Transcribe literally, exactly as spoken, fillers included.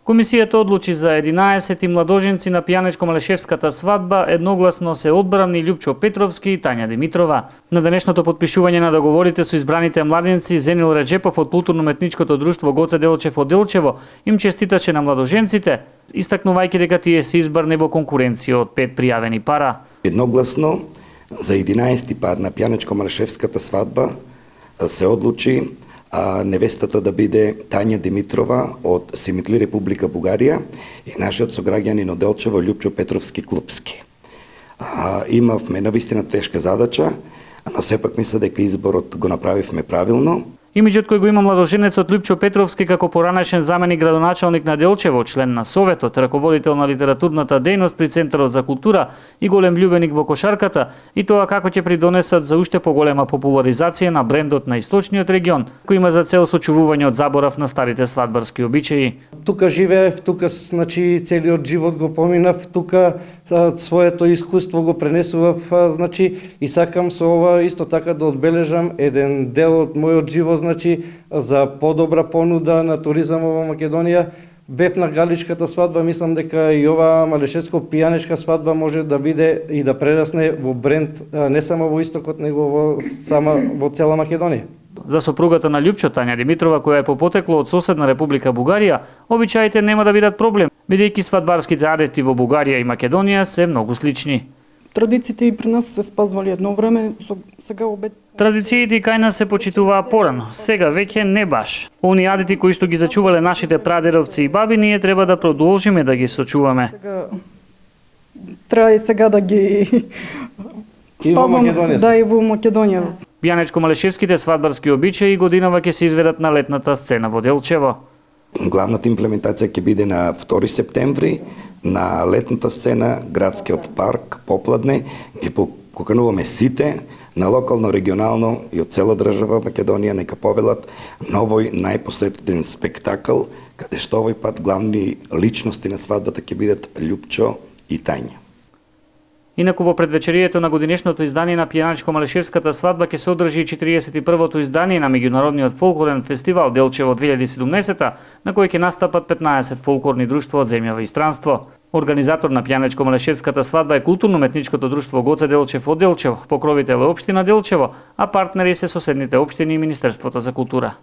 Комисијата одлучи за единаесет младоженци на пијанечко-малешевската свадба, едногласно се одбрани Љупчо Петровски и Тања Димитрова. На денешното потпишување на договорите со избраните младенци, Зенил Реджепов од културно-уметничкото друштво Гоце Делчев од Делчево им честиташе на младоженците, истакнувајќи дека тие се избрани во конкуренција од пет пријавени пара. Едногласно за единаесети пар на пијанечко-малешевската свадба се одлучи а невестата да биде Тања Димитрова од Симитли, Република Бугарија, и нашиот сограѓанин од Делчево Љупчо Петровски Клупски. А, имавме навистина тешка задача, но сепак мисля дека изборот го направивме правилно. Имиџот кој го има младоженецот Љупчо Петровски како поранешен заменик градоначалник на Делчево, член на Советот, раководител на литературната дејност при Центарот за култура и голем љубеник во кошарката, и тоа како ќе придонесат за уште поголема популаризација на брендот на источниот регион, кој има за цел сочувување од заборав на старите свадбарски обичаи. Тука живеев, тука значи целиот живот го поминав, тука своето искуство го пренесував, значи и сакам со ова исто така да одбележам еден дел од мојот живот, значи за подобра понуда на туризам во Македонија. Бев на галичката свадба, мислам дека и ова малешевско-пијанечка свадба може да биде и да прерасне во бренд не само во истокот, него во сама во цела Македонија. За сопругата на Љупчо, Тања Димитрова, која е по потекло од соседна Република Бугарија, обичаите нема да бидат проблем, бидејќи свадбарските адети во Бугарија и Македонија се многу слични. Традициите и при нас се спазвали едно време, сега обед... Традициите и кај нас се почитуваа порано, сега веќе не баш. Оние адети кои што ги зачувале нашите прадедовци и баби, ние треба да продолжиме да ги сочуваме. Сега... Треба и сега да ги спазваме, да, и во Македонија. Пијанечко-малешевските свадбарски обичаи годинава ќе се изведат на летната сцена во Делчево. Главната имплементација ќе биде на втори септември на летната сцена, градскиот парк Попладне. Ги покануваме сите на локално, регионално и од цела држава Македонија нека повелат новој најпосетен спектакл, каде што овој пат главни личности на свадбата ќе бидат Љупчо и Тања. Инаку во предвечерието на годинешното издание на пијанечко-малешевската свадба ќе се одржи четиридесет и првото издание на меѓународниот фолклорен фестивал Делчево две илјади и седумнаесета, на кој ќе настапат петнаесет фолклорни друштва од земја и странство. Организатор на пијанечко-малешевската свадба е културно-уметничкото друштво Гоце Делчев од Делчево, покровител е општина Делчево, а партнери се соседните општини и Министерството за култура.